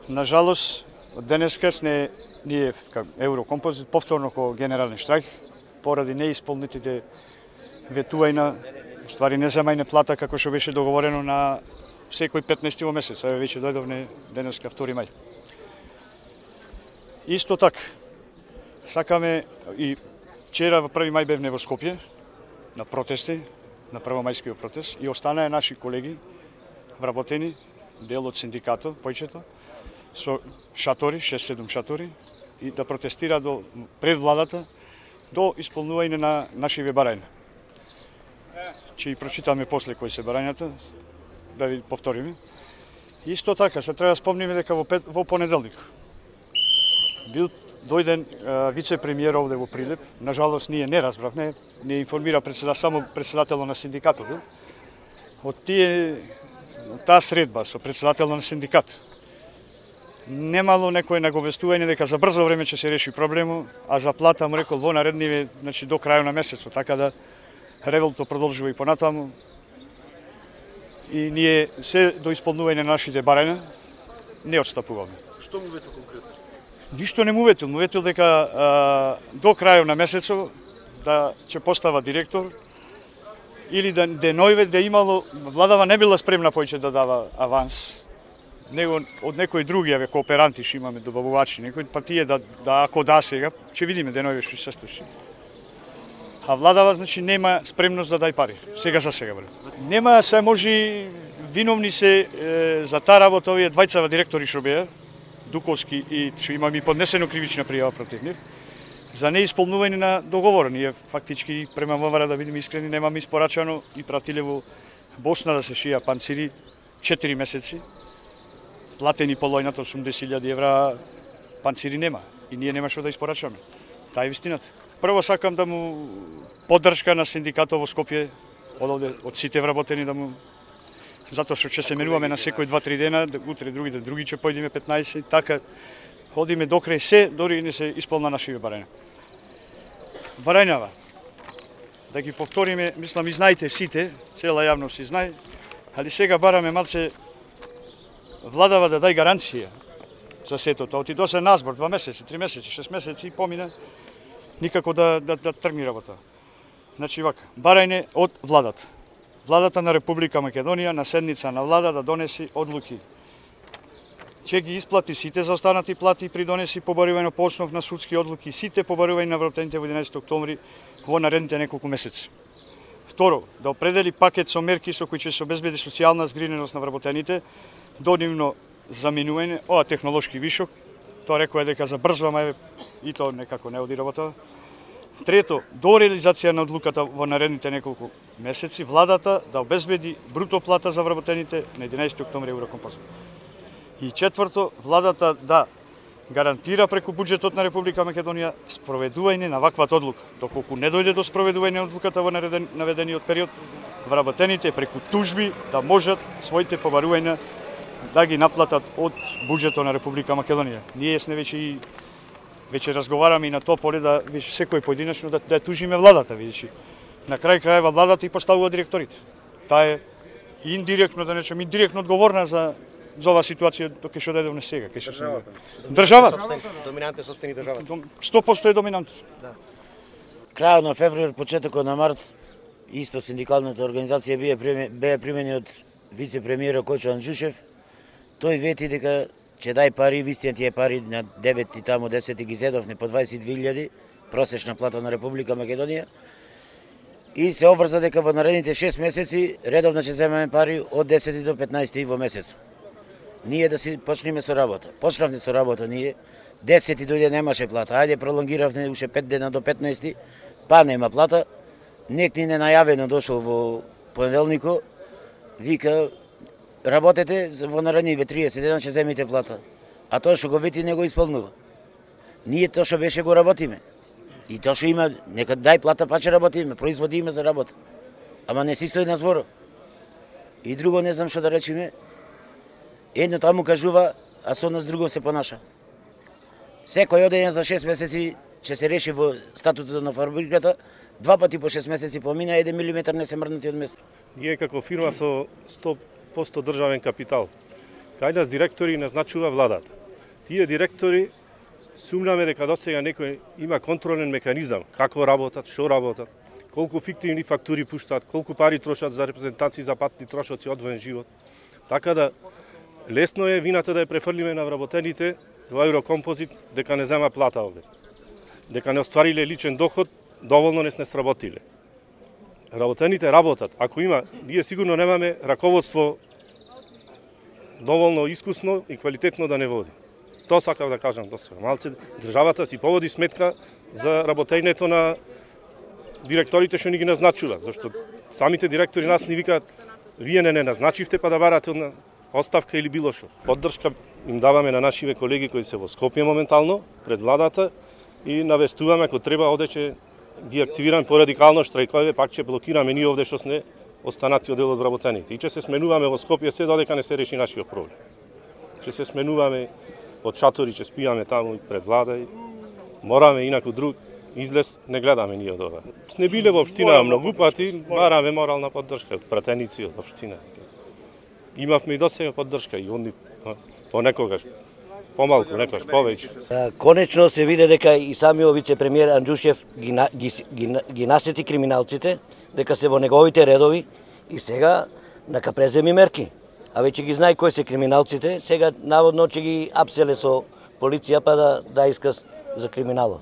На жалост, денеска ние како Еврокомпозит повторно ко генерален штрајк поради неисполнетите ветувања, уствари неземајна плата како што беше договорено на секој 15 во месец, еве веќе дојдовме денеска 2 мај. Исто така, сакаме и вчера во 1 мај бевме во Скопје на протести, на првомајскиот протест и останаа наши колеги вработени, дел од синдикатот, појчето, со шатори, 6-7 шатори, и да протестира пред владата до исполнување на нашиве барања. Че и прочитаме после кои се барањата, да ви повториме. Исто така, се треба да спомниме дека во понеделник бил дојден вице-премиер овде во Прилеп. На жалост ние не разбравме, не информира само председателот на синдикатот. Од таа средба со председателот на синдикат немало некој наговестување дека за брзо време ќе се реши проблемот, а за плата му рекол во наредниве, значи до крајот на месецот, така да револто продолжува и понатаму. И ние се до исполнување на нашите барања не отстапуваме. Што му ветил конкретно? Ништо не му ветил дека до крајот на месецот да ќе постава директор или да денојве да имало, владава не била спремна поиќе да дава аванс. Него од некои други кооперанти што имаме, добавувачи, некои па тие да ако да сега, ќе видиме денојве што се случи. А владава значи нема спремност да дај пари. Сега за сега бре. Нема се може виновни се за таа работа овие двајцава директори што беа, Дуковски и што имаме и поднесено кривична пријава против нив за неисполнување на договор. Ние фактички према МВР, да бидеме искрени, немаме испорачано и пратиле во Босна да се шија панцири 4 месеци. Платени по лојната 80.000 евра, панцири нема и ние нема што да испорачаме. Таа е вистината. Прво сакам да му поддршка на синдикатот во Скопје, од сите вработени да му, затоа што ќе се менуваме на секој 2-3 дена, утре други ќе појдеме 15, така ходиме до крај се, дори не се исполна нашиве барања. Барањава, да ги повториме, мислам и знаете сите, цела јавност си знае, али сега бараме малце владава да дај гаранција за сето тоа. Оти до се назбор 2 месеци, 3 месеци, 6 месеци и помина, никако да тргни работа. Значи вака, барање од владата. Владата на Република Македонија на седница на влада да донеси одлуки. Ќе ги исплати сите заостанати плати и придонеси побарување по основ на судски одлуки, сите побарување на вработените во 11 октомври во наредните неколку месеци. Второ, да определи пакет со мерки со кои ќе се обезбеди социјална згриненост на вработените, до нивно заменување, ова технолошки вишок, тоа рекоа дека забрзува, ама и тоа некако не оди работа. Трето, до реализација на одлуката во наредните неколку месеци, владата да обезбеди бруто плата за вработените на 11 октомври Еврокомпозит. И четврто, владата да гарантира преку буџетот на Република Македонија спроведување на ваквата одлука. Доколку не дојде до спроведување на одлуката во наведениот период, вработените преку тужби да можат своите побарувања да ги наплатат од буџетот на Република Македонија. Ние сме веќе разговараме и на тоа поле да секој поединечно да тужиме владата, видиш. На крај крајва владата и поставува директорите. Таа е индиректно, да речем, индиректно одговорна за оваа ситуација кај што дојдовме сега, кај што државата. Доминантен сопствени државата. 100% е доминант. Да. Крајот на февруар, почетокот на март, исто синдикалната организација беа примени од вице-премиерот Којчо Анџушев. Тој вети дека ќе дај пари, вистина тие пари на 9 и таму 10 ги зедовне по 22.000 просечна плата на Република Македонија. И се обврза дека во наредните 6 месеци редовно ќе земеме пари од 10 до 15 во месец. Ние да си почнеме со работа. Почнавме со работа ние. 10 дојде немаше плата. Ајде пролонгиравме уште 5 дена до 15, па нема плата. Некој не најавено дошол во понеделникот, вика работете во наредниве 30 дена ќе земите плата. А тоа што го вети не го исполнува. Ние тоа што беше го работиме. И тоа што има, нека дај плата па ќе работиме, производиме за работа. Ама не си стои на зборо. И друго не знам што да речеме. Едно таму кажува, а со нас друго се понаша. Секој одење за 6 месеци ќе се реши во статутот на фабриката, 2 пати по 6 месеци помина, 1 милиметар не се мрднати од место. Ние како фирма со 100% државен капитал, кај нас директори назначува владата. Тие директори сумнаме дека досега некој има контролен механизам како работат, што работат, колку фиктивни фактури пуштаат, колку пари трошат за репрезентации за патни трошоци одвоен живот. Така да лесно е вината да ја префрлиме на вработените во Еврокомпозит дека не зема плата овде. Дека не оствариле личен доход, доволно не сработиле. Работените работат. Ако има, ние сигурно немаме раководство доволно искусно и квалитетно да не води. Тоа сакав да кажам до сега. Малце државата си поводи сметка за работењето на директорите што ни ги назначува, зашто самите директори нас ни викаат вие не назначивте па да барате од оставка или било што. Поддршка им даваме на нашиве колеги кои се во Скопје моментално пред владата и навестуваме ако треба овде ќе ги активираме порадикално штрајкови, пак ќе блокираме ние овде што сме останати од дел од вработените. И ќе се сменуваме во Скопје се додека не се реши нашиот проблем. Ќе се сменуваме од шатори, ќе спијаме таму пред влада и мораме инаку друг излез не гледаме ние од ова. Сне биле во општина многу пати, бараме морална поддршка од пратеници од општина. Имавме и досега поддршка и онди понекогаш помалку, некогаш повеќе. Конечно се виде дека и самиот вице-премиер Анџушев ги насети криминалците, дека се во неговите редови и сега нека преземи мерки. А веќе ги знае кои се криминалците, сега наводно ќе ги апселе со полиција па да исказ за криминало.